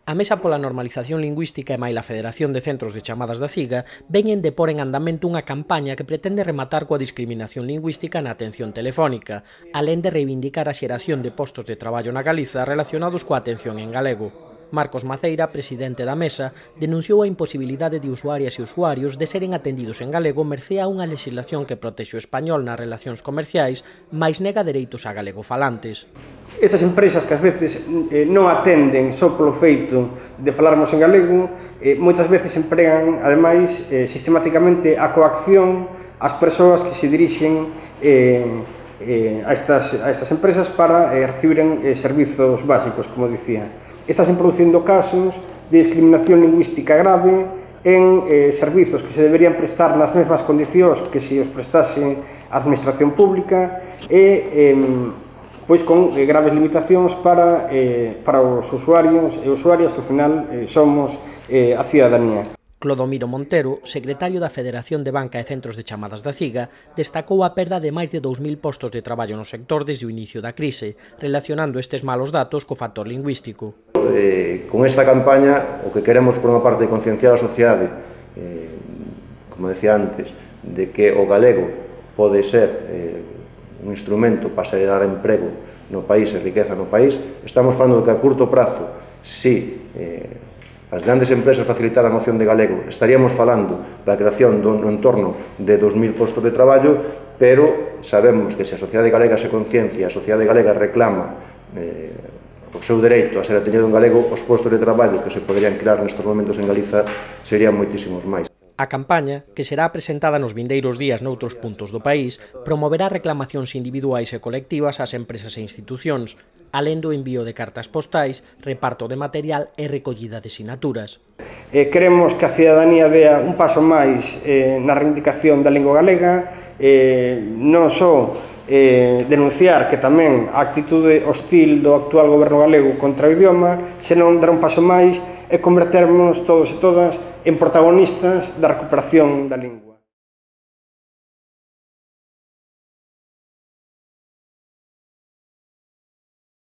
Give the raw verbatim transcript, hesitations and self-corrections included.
A Mesa pola Normalización Lingüística e maila Federación de Centros de Chamadas da CIGA veñen de pôr en andamento unha campaña que pretende rematar coa discriminación lingüística na atención telefónica, alén de reivindicar a xeración de postos de traballo na Galiza relacionados coa atención en galego. Marcos Maceira, presidente da Mesa, denunciou a imposibilidade de usuarias e usuarios de seren atendidos en galego mercé a unha legislación que protexe o español nas relacións comerciais, mais nega dereitos a galegofalantes. Estas empresas que ás veces eh, non atenden só polo feito de falarmos en galego, eh, moitas veces empregan, ademais, eh, sistemáticamente a coacción ás persoas que se dirixen eh, eh, a, estas, a estas empresas para eh, recibiren eh, servizos básicos, como dicía. Están producindo casos de discriminación lingüística grave en eh, servizos que se deberían prestar nas mesmas condicións que se os prestase a administración pública e eh, pois con eh, graves limitacións para, eh, para os usuarios e usuarias que ao final eh, somos eh, a cidadanía. Clodomiro Montero, secretario da Federación de Banca e Centros de Chamadas da CIGA, destacou a perda de máis de dous mil postos de traballo no sector desde o inicio da crise, relacionando estes malos datos co factor lingüístico. Eh, con esta campaña, o que queremos por unha parte concienciar a sociedade, eh, como decía antes, de que o galego pode ser eh, un instrumento para xerar emprego no país e riqueza no país. Estamos falando de que a curto prazo, si eh, as grandes empresas facilitaran a opción de galego, estaríamos falando da creación no entorno de dous mil postos de traballo, pero sabemos que se a sociedade galega se conciencia, a sociedade galega reclama eh, o seu dereito a ser atendido en galego, os postos de traballo que se poderían crear nestes momentos en Galiza serían moitísimos máis. A campaña, que será presentada nos vindeiros días noutros puntos do país, promoverá reclamacións individuais e colectivas ás empresas e institucións, alén do envío de cartas postais, reparto de material e recollida de sinaturas. Eh, queremos que a cidadanía dea un paso máis eh, na reivindicación da lingua galega, eh, non só eh, denunciar que tamén a actitude hostil do actual goberno galego contra o idioma, senón dar un paso máis e converternos todos e todas en protagonistas da recuperación da lingua.